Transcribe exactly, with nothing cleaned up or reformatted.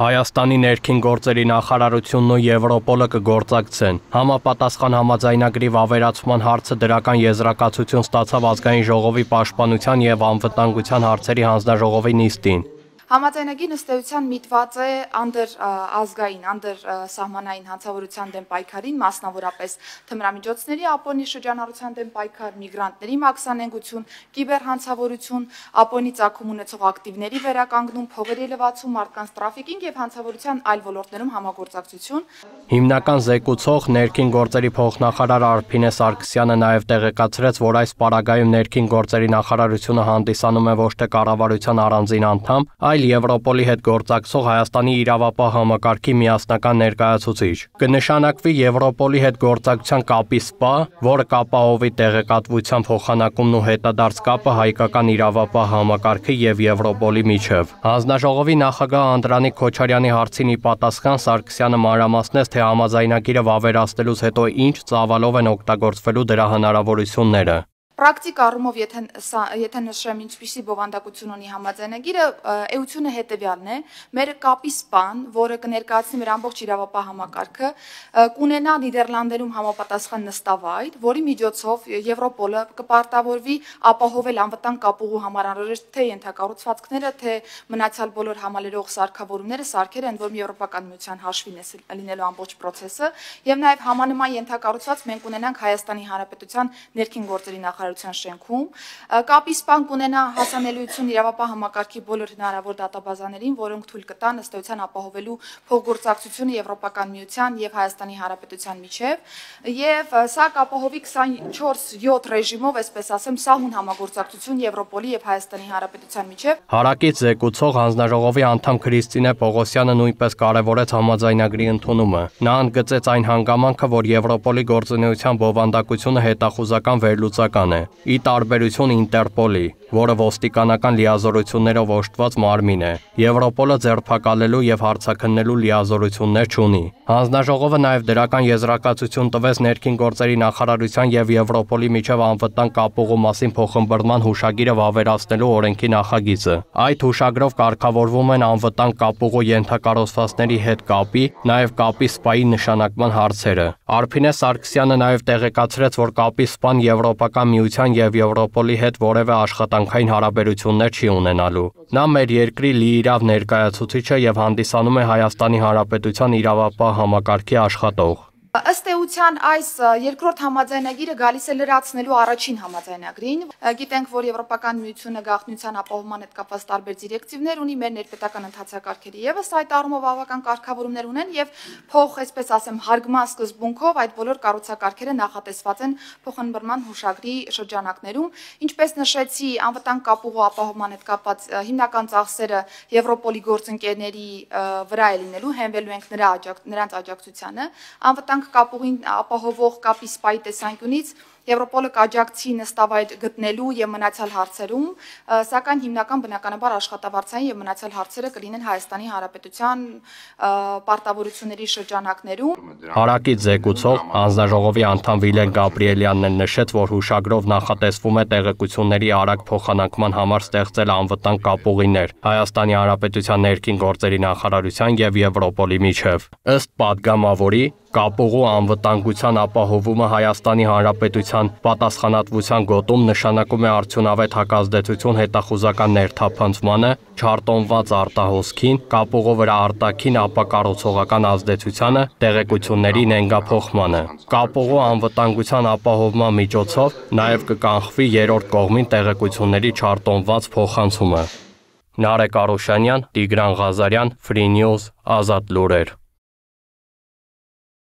Հայաստանի ներքին գործերի նախարարությունն ու Եվրոպոլը կգործակցեն։ Համապատասխան համաձայնագրի վավերացման հարցը դրական եզրակացություն ստացավ ազգային ժողովի պաշտպանության և անվտանգության հարցերի հանձնաժողովի նիստին։ Համաձայնագիրն ըստ էության միտված է անդր ազգային, անդր սահմանային հանցավորության դեմ պայքարին, մասնավորապես թմրամիջոցների ապօրինի շրջանառության դեմ պայքար, միգրանտների մաքսանենգություն, կիբերհանցավորություն, ապօրինի ծագում ունեցող ակտիվների վերականգնում, փողերի լվացում, մարդկանց տրաֆիկինգ և հանցավորության այլ ոլորտներում համագործակցություն։ Հիմնական զեկուցող ներքին գործերի փոխնախարար Արփինե Սարգսյանը նաև տեղեկացրեց, որ այս պարագայում ներքին գործերի նախարարությունը հանդիսանում է ոչ թե կառավարության առանձին անդամ, այլ Եվրոպոլի հետ գործակցող Հայաստանի իրավապահ համակարգի միասնական ներկայացուցիչ։ Կնշանակվի Եվրոպոլի հետ գործակցության կապի սպա, որը կապահովի տեղեկատվության փոխանակումն ու հետադարձ կապը հայկական իրավապահ համակարգի և Եվրոպոլի միջև։ Հանձնաժողովի նախագահ Անդրանիկ Քոչարյանի հարցին ի պատասխան Սարգսյանը մանրամասնեց, թե համաձայնագիրը վավերացնելուց հետո ինչ ծավալով են օգտագործվելու դրա հնարավորությունները։ Պրակտիկ առումով, եթե, եթե նշեմ ինչպիսի բովանդակություն ունի համաձայնագիրը, էությունը հետևյալն է, մեր կապի սպան, որը կներկայացնի մեր ամբողջ իրավապահ համակարգը, կունենա Նիդերլանդերում համապատասխան նստավայր, որի միջոցով Եվրոպոլը կպարտավորվի ապահովել անվտանգ կապուղու համար անհրաժեշտ թե ենթակառուցվածքները, թե մնացյալ բոլոր համալրող սարքավորումները, սարքերը, ընդ որում Եվրոպական միության հաշվին է լինելու ամբողջ process-ը, եւ նաեւ համանման ենթակառուցված մենք ունենանք Հայաստանի Հանրապետության ներքին գործերի նախարարության շենքում, կապի սպան կունենա հասանելիություն իրավապահ համակարգի բոլոր հնարավոր դատաբազաներին, որոնք թույլ կտան ըստ էության ապահովելու փոխգործակցությունը Եվրոպական միության եւ Հայաստանի Հանրապետության միջև, եւ սա կապահովի քսանչորս յոթ ռեժիմով, այսպես ասեմ, սահուն համագործակցություն Եվրոպոլի եւ Հայաստանի Հանրապետության միջև։ Հարակից զեկուցող հանձնաժողովի անդամ Քրիստինե Պողոսյանը նույնպես կարևորեց համաձայնագրի ընդունումը։ Նա ընդգծեց այն հանգամանքը, որ Եվրոպոլի գործունեության բովանդակությունը հետախուզական վերլուծական է, ի տարբերություն Ինտերպոլի, որը ոստիկանական լիազորություններով օժտված մարմին է։ Եվրոպոլը ձերբակալելու եւ հարցաքննելու լիազորություններ չունի։ Հանձնաժողովը նաեւ դրական եզրակացություն տվեց ներքին գործերի նախարարության եւ Եվրոպոլի միջև անվտանգ կապուղու մասին փոխըմբռնման հուշագիրը վավերացնելու օրենքի նախագիծը։ Այդ հուշագրով կարգավորվում են անվտանգ կապուղու ենթակառուցվածքների հետ կապի, նաեւ կապի սպայի նշանակման հարցերը։ Արփինե Սարգսյանը նաեւ տեղեկացրեց, որ կապի սպան Եվրոպական միության եւ Եվրոպոլի հետ որևէ աշխատանքային հարաբերություններ չի ունենալու։ Նա մեր երկրի լիիրավ ներկայացուցիչը եւ հանդիսանում է Հայաստանի Հանրապետության իրավապահ համակարգի աշխատող։ Ըստ էության այս երկրորդ համաձայնագիրը գալիս է լրացնելու առաջին համաձայնագրին։ Գիտենք, որ Եվրոպական միությունը գաղտնիության ապահովման հետ կապված տարբեր դիրեկտիվներ ունի, մեր ներպետական ընթացակարգերը եւս այդ առումով բավական կարգավորումներ ունեն եւ փոխ, այսպես ասեմ, հարգման սկզբունքով այդ բոլոր կառուցակարգերը նախատեսված են փոխըմբռնման հուշագրի շրջանակներում։ Ինչպես նշեցի, անվտանգ կապուղու ապահովման հետ կապված հիմնական ծախսերը Եվրոպոլի գործընկերների վրա է լինելու, հենվելու ենք նրա նրանց աջակցությանը։ Անվտանգ կապուղին ապահովող կապի սպայի տեսանկյունից Եվրոպոլը կաջակցի նստավայր գտնելու եւ մնացյալ հարցերում, սակայն հիմնական բնականաբար աշխատավարձային եւ մնացյալ հարցերը կլինեն Հայաստանի Հանրապետության պարտավորությունների շրջանակներում։ Հարակից զեկուցող հանձնաժողովի անդամ Վիլեն Գաբրիելյանն էլ նշեց, որ հուշագրով նախատեսվում է տեղեկությունների արագ փոխանակման համար ստեղծել անվտանգ կապուղիներ Հայաստանի Հանրապետության ներքին գործերի նախարարության եւ Եվրոպոլի միջև։ Ըստ падգամավորի կապուղու անվտանգության ապահովումը Հայաստանի Հանրապետության պատասխանատվության գոտում նշանակում է արդյունավետ հակազդեցություն հետախուզական ներթափանցմանը, չարտոնված արտահոսքին, կապուղու վրա արտաքին ապակառուցողական ազդեցությանը, տեղեկությունների նենգափոխմանը։ Կապուղու անվտանգության ապահովման միջոցով նաև կկանխվի երրորդ կողմին տեղեկությունների չարտոնված փոխանցումը։ Նարեկ Արուշանյան, Տիգրան Ղազարյան, Free News, Ազատ լուրեր։